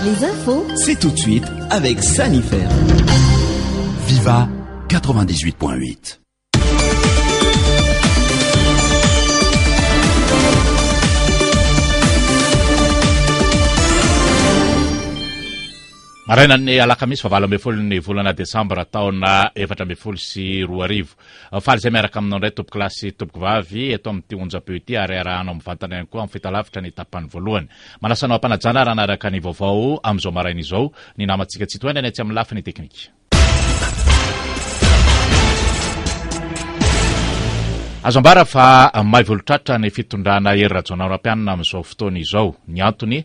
Les infos. C'est tout de suite avec Sanifer. Viva 98.8. Marainan'ny alakamisy fa 18 ny volana desambra taona 2014. Faly izay miaraka aminao indray tompoko lahy sy tompoko vavy eto amin'ity onjam-peo ity ary arahanao mivantana ihany koa amin'ny fahitalavitra ny tapany voalohany. Manasa anao am-panajana ary hanaraka ny vaovao amin'izao maraina izao ny namantsika Tsitohaina ny etsy amin'ny lafiny teknika. Azo ambara fa may volotratra ny fitondrana Hery Rajaonarimampianina amin'izao fotoana izao. Ny antony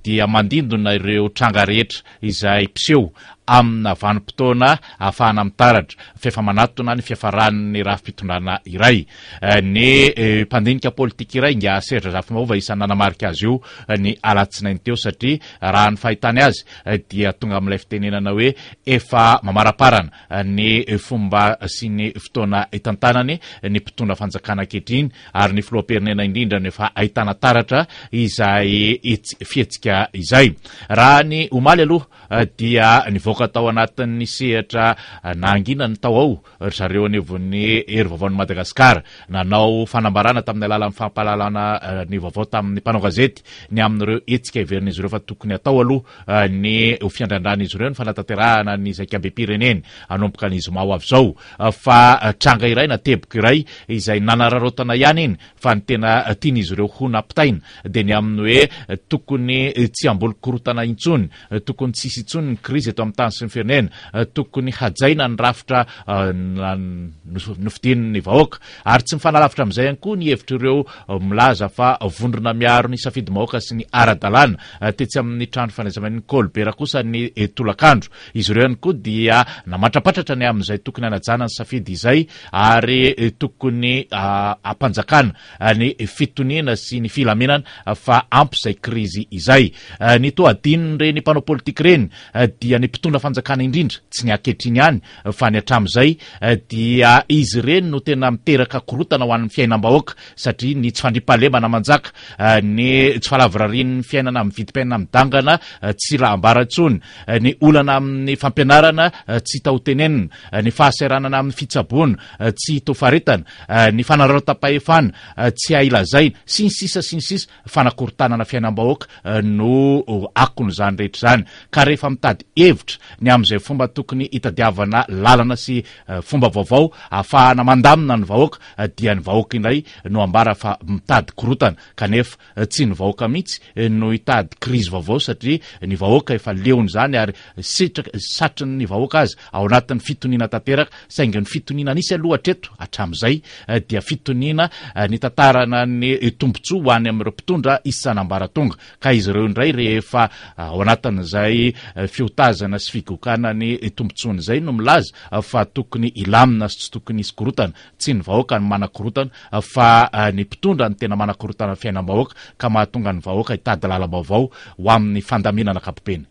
dia mandindona ireo tranga rehetra izay mpiseho amina vanim-potoana ahafahana mitaratra fa efa manatona ny fiafaran'ny rafi-pitondrana iray. Ny mpandinika politika iray, Ingahy Serge Razafimaova, isan'ny nanamarika azy io ny alatsinainy teo satria raha ny fahitany azy dia tonga amin'ilay fitenenana hoe efa mamaraparana ny fomba sy ny fotoana itantanany ny mpitondra fanjakana ankehitriny ary ny filoham-pirenena indrindra no efa ahitana taratra izay fihetsika izay. Raha ny omaly aloha dia nivoaka tao anatin'ny sehatra nahangina ny tao ao ry zareo anivon'ny Hery Vaovaon'i Madagasikara. Nanao fanambarana tamin'ny alalan'ny fampahalalana ny vaovao tamin'ny mpanao gazety ny amin'ireo hetsika heverin'izy ireo fa tokony hatao aloha ny ho fiandrandran'izy ireo ny fanatanterahana ny zaikabem-pireneny hanomboka ny zoma ho avy izao. Fa tranga iray na teboka iray izay nanararaotana ihany iny fa ny tena tian'izy ireo ho nampitaina dia ny amin'ny hoe tokony tsy hamboly korontana intsony, tokony tsy hisy intsony ny krizy eto amin'ny tany sy ny firenena, tokony hajaina ny rafitra nofidian'ny vahoaka. Ary tsy mifanalavitra amin'izay ihany koa ny hevitr'ireo milaza fa vondrona miaro ny safidim-bahoaka sy ny ara-dalàna tetsy amin'ny trano fandraisambahin'i Colbert kosa ny tolakandro. Izy ireo ihany koa dia namatrapatratra ny amin'izay tokony hanajana ny safidy izay ary tokony hampanjakana ny fitoniana sy ny filaminana fa ampy izay krizy izay. Ny toa adinon'ireny mpanao politika ireny dia ny mpitondra fanjakana indrindra, tsy ny ankehitriny ihany fa ny hatramin'izay dia izy ireny no tena miteraka korotana ho an'ny fiainam-bahoaka satria ny tsy fandriampahalemana manjaka, ny tsy fahalavorarian'ny fiainana amin'ny vidim-piainana midangana tsy raha ambara intsony, ny olana amin'ny fampianarana tsy hita ho tenenina, ny fahasahiranana amin'ny fitsaboana tsy hita ho faritana, ny fanararaotam-pahefana tsy hay lazaina, sy ny sisa sy ny sisa Fanakorontanana fiainam-bahoaka no akon'izany rehetra izany. Ka rehefa mitady hevitra ny amin'izay fomba tokony hitadiavana lalana sy fomba vaovao ahafahana mandamina ny vahoaka dia ny vahoaka indray no ambara fa mitady korontana kanefa tsy ny vahoaka mihitsy no hitady krizy vaovao satria ny vahoaka efa leon'izany ary sitraka satrin'ny vahoaka aza ao anatin'ny fitoniana tanteraka saingy ny fitoniana nisy aloha hatreto hatramin'izay dia fitoniana nitantarana ny tombontsoa ho any amin'ireo mpitondra isan'ambaratonga ka izy ireo indray rehefa ao anatin'izay fiotazana sy figokana ny tombontsoany izay no milaza fa tokony hilamina sy tsy tokony hisy korotana. Tsy ny vahoaka no manakorotana fa ny mpitondra no tena manakorotana ny fiainam-bahoaka ka mahatonga ny vahoaka hitady lalam-baovao ho amin'ny fandaminana ankapobeny.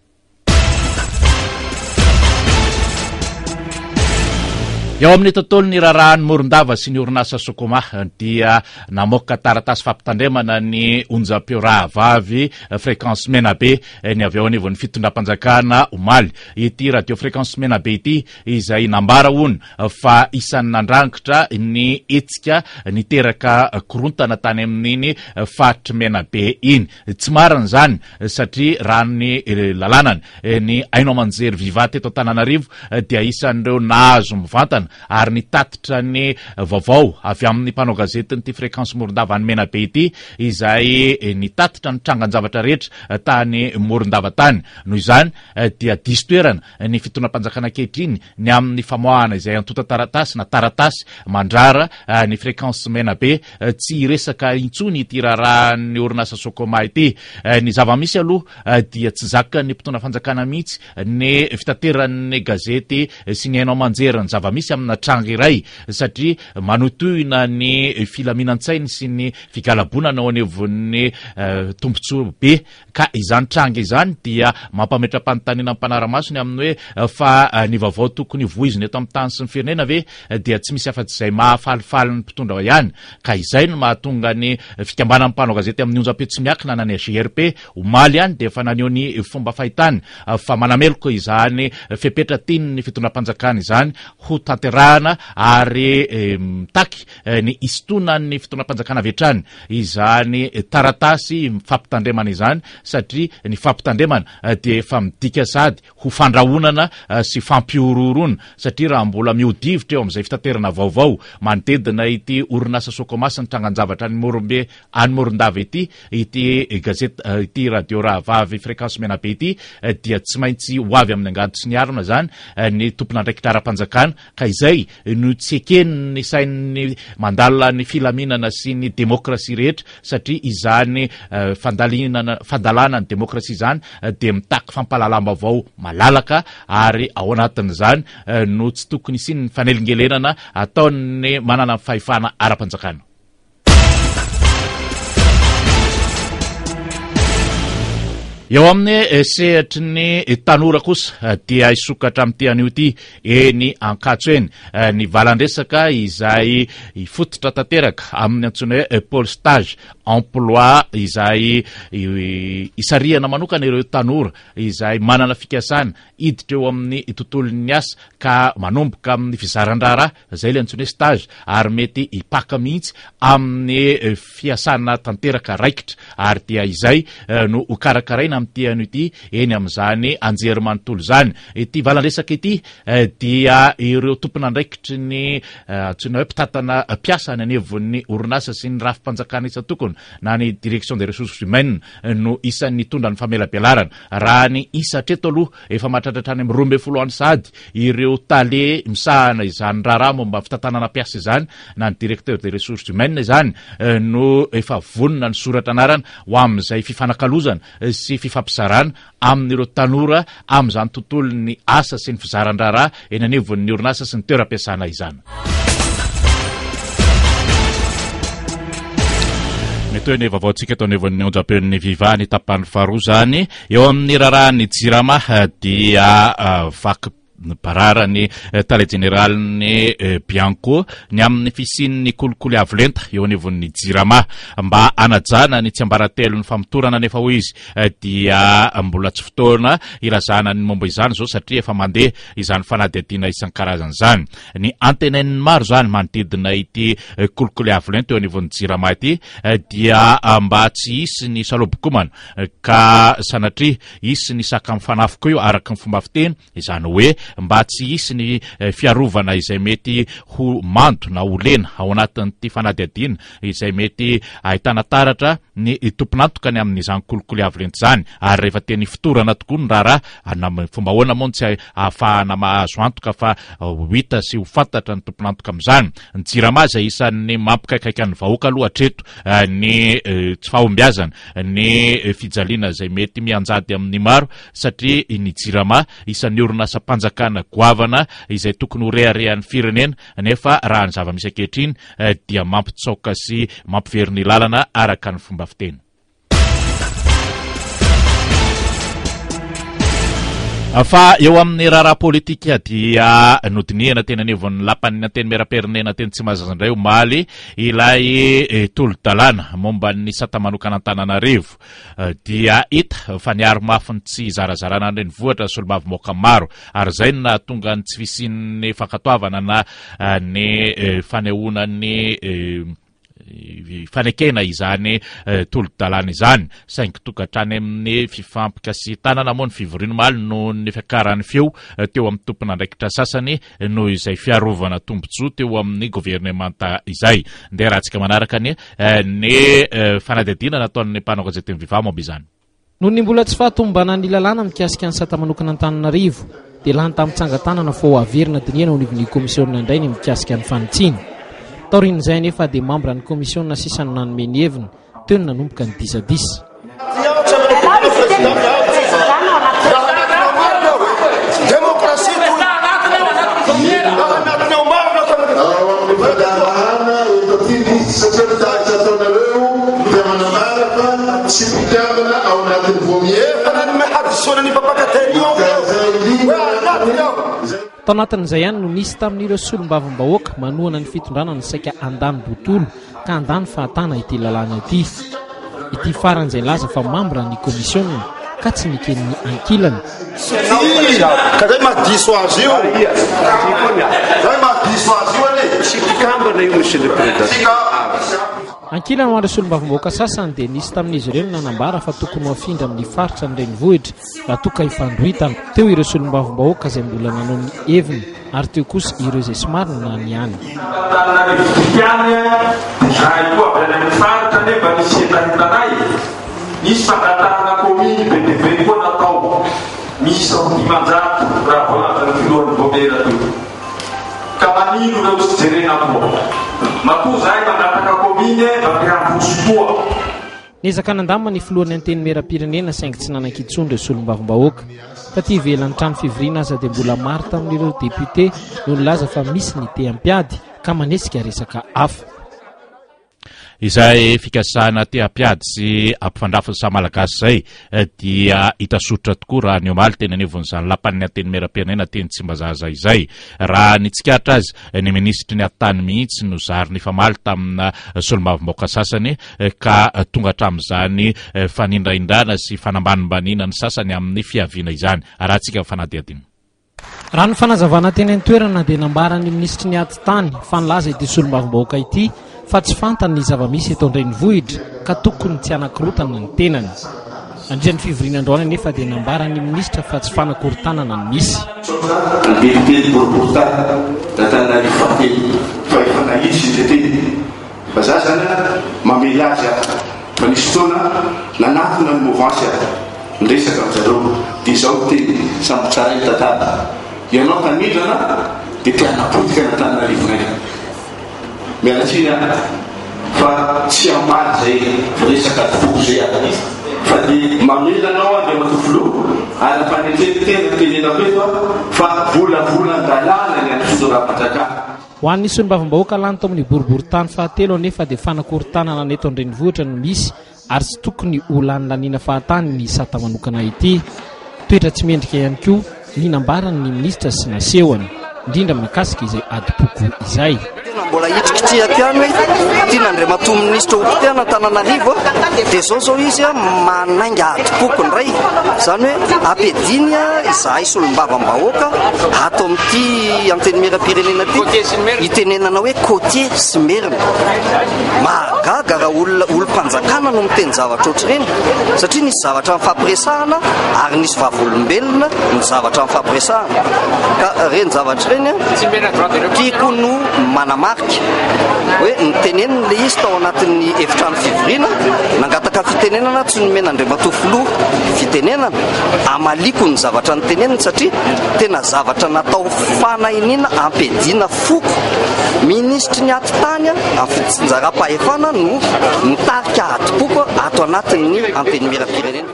Eo amin'ny tontolon'ny raharahan'ny Morondava sy ny orinasa Socoma dia namoaka taratasy fampitandremana ny onjam-peo rahavavy Fréquence Menabe ny avy eo anivon'ny fitondram-panjakana omaly. Ity radio Fréquence Menabe ity izay nambara hono fa isan'ny nandrangitra ny hetsika niteraka korontana tany amin'iny faritry Menabe iny. Tsy marina izany satria raha ny lalànany, ny haino aman-jery Viva teto Antananarivo dia isan'ireo nahazo mivantana ary nitatitra ny vaovao avy amin'ny mpanao gazetin'ity Fréquence Morondava any Menabe ity izay nitatitra ny trangan-javatra rehetra tany Morondava tany. Noho izany dia diso toerana ny fitondram-panjakana ankehitriny ny amin'ny famoahana izay antontan-taratasy na taratasy mandrara ny Fréquence Menabe tsy hiresaka intsony ity raharahan'ny orinasa Socoma ity. Ny zava-misy aloha dia tsy zakan'ny mpitondra fanjakana mihitsy ny fitateran'ny gazety sy ny haino aman-jery ny zava-misy. mihitsy amina tranga iray satria manohitohina ny filaminan-tsainy sy ny figalabonana ao anivon'ny tombontsoa be. Ka izany tranga izany dia mampametra-panontaniana ny mpanara-maso ny amin'ny hoe fa ny vaovao tokony hovoizina eto amin'ny tany sy ny firenena ve dia tsy misy afa-tsy izay mahafalifaly ny mpitondra ihany. Ka izay no mahatonga ny fikambanan'ny mpanao gazety amin'ny onjam-peo tsy miankina na ny AGRP omaly ihany dia efa naneho ny fomba fahitany fa manameloka izany fepetra tian'ny fitondram-panjakana izany ho tanterahana ary mitaky ny hisintonan'ny fitondram-panjakana avy hatrany izany taratasy fampitandremana izany satria ny fampitandremana dia efa midika sady ho fandrahonana sy fampihorohoroana satria raha mbola mihodivitra eo amin'izay fitaterana vaovao manodidina ity orinasa Socoma sy ny trangan-javatra any Morombe any Morondava ity ity gazety ity radio rahavavy Fréquence Menabe ity dia tsy maintsy ho avy amin'ny angady sy ny arina izany ny tompon'andraikitra ara-panjakana ka izay no tsy eken'ny sain'ny mandala ny filaminana sy ny demokrasia rehetra satria izany fandalinana fandalana ny demokrasia izany dia mitaky fampahalalam-baovao malalaka ary ao anatin'izany no tsy tokony hisian'ny fanelingelenana ataon'ny manana fahefana ara-panjakana. Eo amin'ny eh, sehatry ny tanora kosa eh, dia hisokatra amin'ity anio ity eny Ankatso eny eh, ny valandresaka izay hifototra tanteraka amin'ny antsoina hoe pôle stage emploi izay isarihana manokana ireo tanora izay manana fikasana hiditra eo amin'ny tontolon'ny asa ka manomboka amin'ny fizaran-draharaha, izay ilay antsoina hoe stage, ary mety hipaka mihitsy amin'ny fiasana tanteraka raikitra, ary dia izay no hokarakaraina amin'ity anio ity eny amin'izany anjerimanontolo izany. Ity valan-dresaka ity dia ireo tompon'andraikitry ny antsoina hoe mpitantana mpiasa any anivon'ny orinasa sy ny rafi-panjakana isan-tokony na ny direction des ressources humaines no isan'ny nitondra ny famelabelarana. Raha ny isa hatreto aloha, efa mahatratra hatrany amin'ny 12 any sahady ireo tale misahana izany raharaha momba ny fitantanana mpiasa izany na ny directeur des ressources humaines izany no efa vonona nisoratra anarana ho amin'izay fifanakalozana sy fifampizarana amin'ireo tanora amin'izany tontolon'ny asa sy ny fizaran-draharaha eny anivon'ny orinasa sy ny toeram-piasana izany. Mitohy ny vaovaontsika eto anivon'ny onjam-peon'ny Viva ny tapany faharoa izany. Eo amin'ny raharahan'ny Jirama dia vaky barara ny tale jeneralin'ny Bianco ny amin'ny fisian'ny kolikoly avo lenta eo anivon'ny Jirama. Mba hanajana ny tsiambaratelon'ny famotorana anefa hoy izy dia mbola tsy fotoana hilazana ny momba izany izao satria efa mandeha izany fanadihadiana isan-karazany izany. Ny antenain'ny maro izany manodidina ity kolikoly avo lenta eo anivon'ny Jirama ity dia mba tsy hisy ny salobokomana ka sanatria hisy ny saka mifanafika io araka ny fomba fiteny, izany hoe mba tsy hisy ny fiarovana izay mety ho mando na ho lena ao anatin'ity fanadihadiana izay mety ahitana taratra ny tompon'antoka ny amin'izany kolikoly avo lenta izany ary rehefa teny ifotorana tokoa ny raharaha na amin'ny fomba ahoana moa no tsy ahafahana mahazo antoka fa ho hita sy ho fantatra ny tompon'antoka amin'izany. Ny Jirama izay isan'ny mampikaikaika ny vahoaka aloha hatreto ny tsy fahombiazana ny fijaliana izay mety mianjady amin'ny maro satria ny Jirama isan'ny orinasam-panjakana goavana izay tokony ho reharehan'ny firenena nefa raha ny zava-misy ankehitriny dia mampitsaoka sy mampivery ny lalana araka ny fomba fiteny. Fa eo amin'ny raharaha politika dia nodinihana teny anivon'ny lapan'ny Antenimierampirenena teny Tsimbazaza indray omaly ilay eh, tolo-dalàna momba ny sata manokana Antananarivo. Eh, dia hita fa niaro mafy ny tsy hizarazarana ny renivohitra ny solombavambahoaka maro ary izay no nahatonga ny tsy fisian'ny fankatoavana na eh, ny fanehoana ny fanekena izany tolo-dalàna izany saingy tonga hatrany amin'ny fifampikasihan-tanana moa ny fivoriana omaly noho ny fiakaran'ny feo teo amin'ny tompon'andraikitra sasany noho izay fiarovana tombontsoa teo amin'ny governemanta izay. Ndeha rahantsika manaraka ny ny fanadihadiana nataon'ny mpanao gazetin'ny Viva momba izany. Noho ny mbola tsy fahatomombanan'ny lalàna mikasika ny sata manokana Antananarivo dia lany tamin'ny tsangan-tanana fa ho averina dinihana eo anivon'ny kaomisiona indray ny mikasika ny fanitsiana. Taorian'izay anefa dia mambran'ny kaomisiona sisa no nanome ny heviny, teo no nanomboka ny disadisa. Nanome hadisoana ny mpampakateny io hoe anatiny ao. Tao anatin'izay ihany no nisy tamin'ireo solombavambahoaka manohana ny fitondrana no saika handany botolo ka handany fahatana ity lalàna ity. Ity farany izay nilaza fa mambra ny komisiona ka tsy neken'ny ankilany. Ka zay mahadiso azy io. Zay mahadiso azy io anie. Tsy mpikambana io Monsieur le Président. Ankilany ho an'ireo solombavambahoaka sasany dia nisy tamin'izy ireo no nanambara fa tokony ho afindra amin'ny faritra ny renivohitra raha toa ka hifandroritana. Teo ireo solombavambahoaka izay mbola nanao ny heviny ary teo kosa ireo izay somary nany ihany. Antananarivo ihany dia izahay koa avy any amin'ny faritra nefa nisy hetahetanay, nisy fangatahana kaominy be dia be koa natao, miisa ho 500 raha voalazan'ny filohan'ny vaomiera teo. Ka manino ireo tsy jerena koa? Matoa zahay mangataka commune mba te handroso koa. Niezaka nandamina ny filohan'ny Antenimierampirenena saingy tsy nanan-kintsony ireo solombavambahoaka. Taty ivelan'ny trano fivoriana aza dia mbola maro tamin'ireo depiote no nilaza fa misy ny te hampiady ka manesika resaka hafa. Izay fikasana te hampiady sy hampifandrafy ny samy Malagasy izay dia hita soritra tokoa raha ny omaly teny anivon'izany lapan'ny Antenimierampirenena teny Tsimbazaza izay. Raha ny tsikaritra azy, ny minisitry ny Atitany mihitsy no zary nifamaly tamina solombavambahoaka sasany ka tonga hatramin'izany fanindrahindrana sy fanambanimbaniana ny sasany amin'ny fiaviana izany. Arahantsika ny fanadihadiana. Raha ny fanazavana teny an-toerana dia nambaran'ny minisitry ny Atitany fa nilaza ity solombavambahoaka ity fa tsy fantany ny zava-misy eto an-drenivohitra ka tokony tsy hanakorotana ny tenany. Nandritra ny fivoriana androany anefa dia nambaran'ny minisitra fa tsy fanakorontanana no misy. Ny député boriborintany d'Antananarivo fahatelo fa efa nahitsy ny tetehiny. Fa za zany a mamely azy aho fa nisy fotoana nanatona ny mouvance aho niresaka aminjareo dia izao ny teny samby tsaray ny tantara ianao tanindrana dia te hanapotika ny Antananarivonay miala tsiny aho fa tsy hamaly zay resaka foko zay aho fa dia mamela anao Andriamatoa Filoha ary ampanetren tena tenenako eto aho fa volavolan-dalàna ny an'ny fitondram-panjakana. Ho an'ny solombavambahoaka lany tao amin'ny boriborintany fahatelo anefa dia fanakorontanana ny eto an-drenivohitra no misy ary tsy tokony ho lanilaniana fahatany ny sata manokana ity. Toetra tsy mendrika ihany koa ny nambaran'ny minisitra sy nasehony, indrindra mahakasika izay adim-poko izay. Tena mbola hitrikitrihako ihany hoe tian'Andriamatoa Minisitra ho potehana Antananarivo dia izao izao izy manainga adim-poko indray. Izany hoe ampiadiany izahay solombavambahoaka ato amin'ity Antenimierampirenena ity itenenana hoe côtier sy merina. Mahagaga raha olona olom-panjakana no miteny zavatra ohatr'ireny satria nisy zavatra nifampiresahana ary nisy vavolombelona ny zavatra nifampiresahana. Ka ireny zavatra ireny tiako no manamarika hoe niteneniny ilay izy tao anatin'ny efitrano fivoriana, nangataka fitenenana tsy nomen'Andriamatoa Filoha fitenenana, amaliako ny zavatra noteneniny satria tena zavatra natao fanahiniana ampiadiana foko. Minisitry ny atitany amin'ny fitsinjaram-pahefana no mitarika adim-poko ato anatin'ny Antenimierampirenena.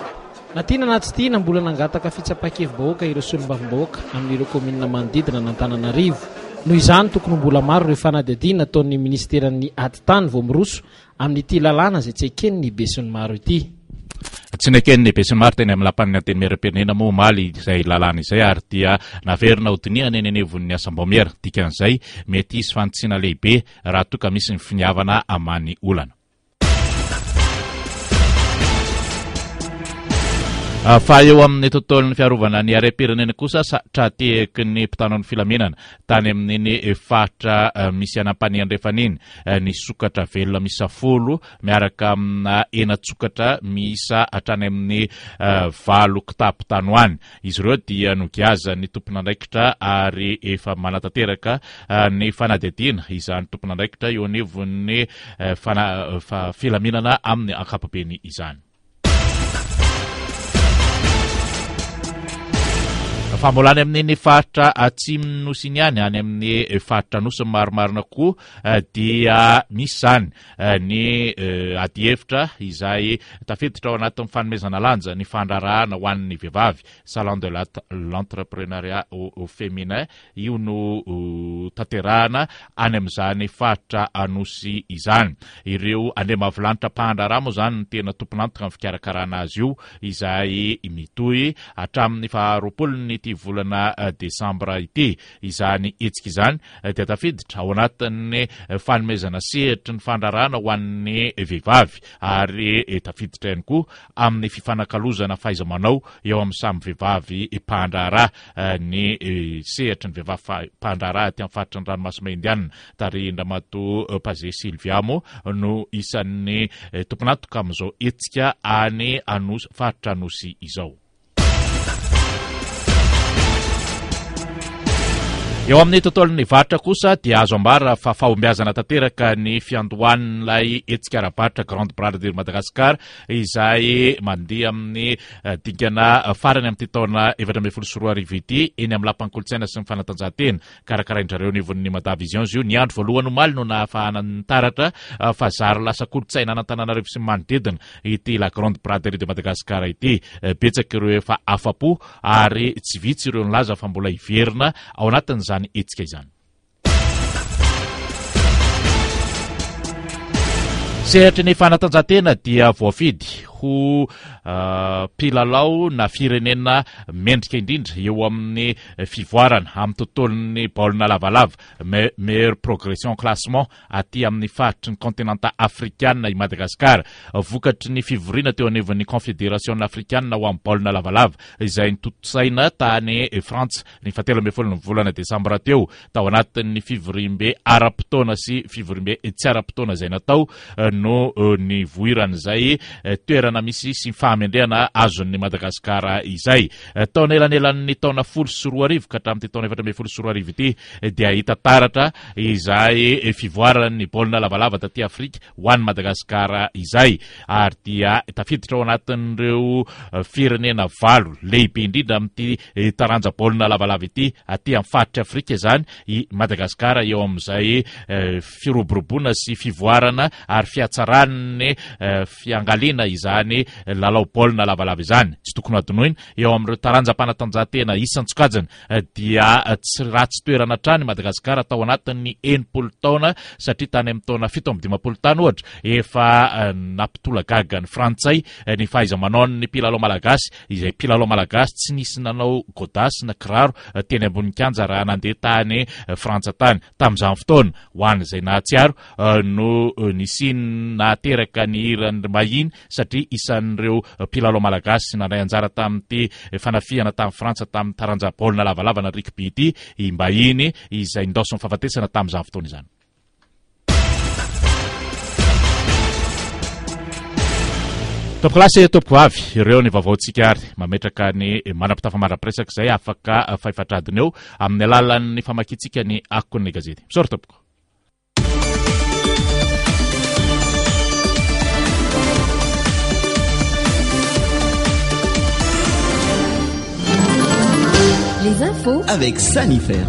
Na tiana na tsy tiana, mbola nangataka fitsapan-kevi-bahoaka ireo solombavambahoaka amin'ireo kaominina manodidina an'Antananarivo. Noho izany, tokony ho mbola maro ireo fanadihadiana ataon'ny minisiteran'ny Atitany vao miroso amin'ity lalàna izay tsy eken'ny besinimaro ity. Tsy neken'ny besinimaro teny amin'ny lapan'ny Antenimierampirenena moa omaly izay lalàna izay ary dia naverina hodinihana eny anivon'ny asam-baomiera. Dikan'izay, mety hisy fanitsiana lehibe raha toa ka misy ny finiavana hamaha ny olana. Fa eo amin'ny tontolon'ny fiarovana ny harem-pirenena kosa, tra-tehaky ny mpitandro ny filaminana tany amin'iny faritra misy an'Ampanihy Andrefana iny ny sokatra velona miisa 10 miaraka amina henan-tsokatra miisa hatrany amin'ny 8 kitapo tany ho any. Izy ireo dia nogiazan'ny tompon'andraikitra ary efa manatanteraka ny fanadihadiana izany tompon'andraikitra eo anivon'ny filaminana amin'ny ankapobeny izany. Fa mbola any amin'iny faritra atsimon'ny Nosy iny ihany, any amin'ny faritra Anosy ny marimarina kokoa, dia misy izany ny adihevitra izay tafiditra ao anatin'ny fanomezana lanja ny fandraharahana ho an'ny vehivavy, Salon de l'entrepreneuriat au féminin, Io no tanterahana any amin'izany faritra Anosy izany. Ireo andriambavilanitra mpandraharaha moa izany no tena tompon'antoka amin'ny fikarakarana azy io, izay mitohy hatramin'ny faha roapolon'ity volana desambra ity. Izany hetsika izany dia tafiditra ao anatin'ny fanomezana sehatry ny fandraharahana ho an'ny vehivavy ary tafiditra ihany koa amin'ny fifanakalozana fahaiza-manao eo amin'ny samy vehivavy mpandraharaha. ny sehatry ny vehivavy mpandraharaha aty amin'ny faritry ny ranomasina Indiana, tarihin-dRamatoa Pazé Sylvia moa no isan'ny tompon'antoka amin'izao hetsika any Anosy, faritra Anosy izao. Eo amin'ny tontolon'ny varotra kosa dia azo ambara fa fahombiazana tanteraka ny fiandohan'ilay hetsika ara-barotra Grande Braderie Madagascar izay mandeha amin'ny dingana farany amin'ity taona 2014 ity eny amin'ny Lapan'ny Kolontsaina sy ny Fanatanjahantena. Karakarain-dry zareo anivon'ny Mada Vision izy io. Ny andro voalohany omaly no nahafahana nitaratra fa zary lasa kolontsaina an'Antananarivo sy ny manodidina ity La Grande Braderie de Madagascar ity. Betsaka ireo efa afa-po ary tsy vitsy ireo nilaza fa mbola hiverina ao anatin'izany hetsika izany. Sehatry ny fanatanjahantena dia voafidy ho mpilalao na firenena mendrika indrindra eo amin'ny fivoarana amin'ny tontolon'ny baolina lavalava, meilleure progression classement, aty amin'ny faritry ny kaontinanta afrikana i Madagasikara. Vokatry ny fivoriana teo anivon'ny Konfederasiona afrikanina ho amin'ny baolina lavalava izay notontosaina tany Frantsa ny fahatelo ambin'ny folon'ny volana desambra teo, tao anatin'ny fivoriambe ara-potoana sy fivoriambe tsy ara-potoana izay natao no nivoiran'izay toerana misy sy fahamendrehana azon'ny Madagasikara izay. Tao anelanelan'ny taona 2010 ka hatramin'ity taona 2014 ity dia hita taratra izay fivoaran'ny baolina lavalava taty Afrika ho an'i Madagasikara izay ary dia tafiditra ao anatin'ireo firenena valo lehibe indrindra amin'ity taranja baolina lavalava ity aty amin'ny faritry Afrika izany i Madagasikara eo amin'izay firoboroboana sy fivoarana ary fihatsaran'ny fiangaliana izany lalao baolina lavalava izany. Tsy tokony hadinoina eo amin'ireo taranjam-panatanjahantena isan-tsokajiny dia tsy ratsy toerana hatrany Madagasikara tao anatin'ny 60 taona satria tany amin'ny taona 57 tany ohatra efa nampitolagaga ny frantsay ny fahaiza-manaon'ny mpilalao malagasy izay mpilalao malagasy tsy nisy nanao godasse na kiraro teny ambony kianja raha nandeha tany Frantsa tany tamin'izany fotoana ho an'izay nahatsiaro no nisian'ny nahateraka ny hiran'ny Mahiny satria isan'ireo mpilalao malagasy nandray anjara tamin'ity fanafihana tamin'i Frantsa tamin'ny taranja baolina lavalava na rugby ity i Mbahiny izay nindaosin'ny fahafatesana tamin'izany fotoana izany. Tompokolahy sy tompokovavy, ireo ny vaovaontsika ary mametraka ny manam-pitafa mandra-piresaka izay afaka fahefatradiny eo amin'ny alalan'ny famakiantsika ny akon'ny gazety. Misaotra tompoko. Les infos avec Sanifer.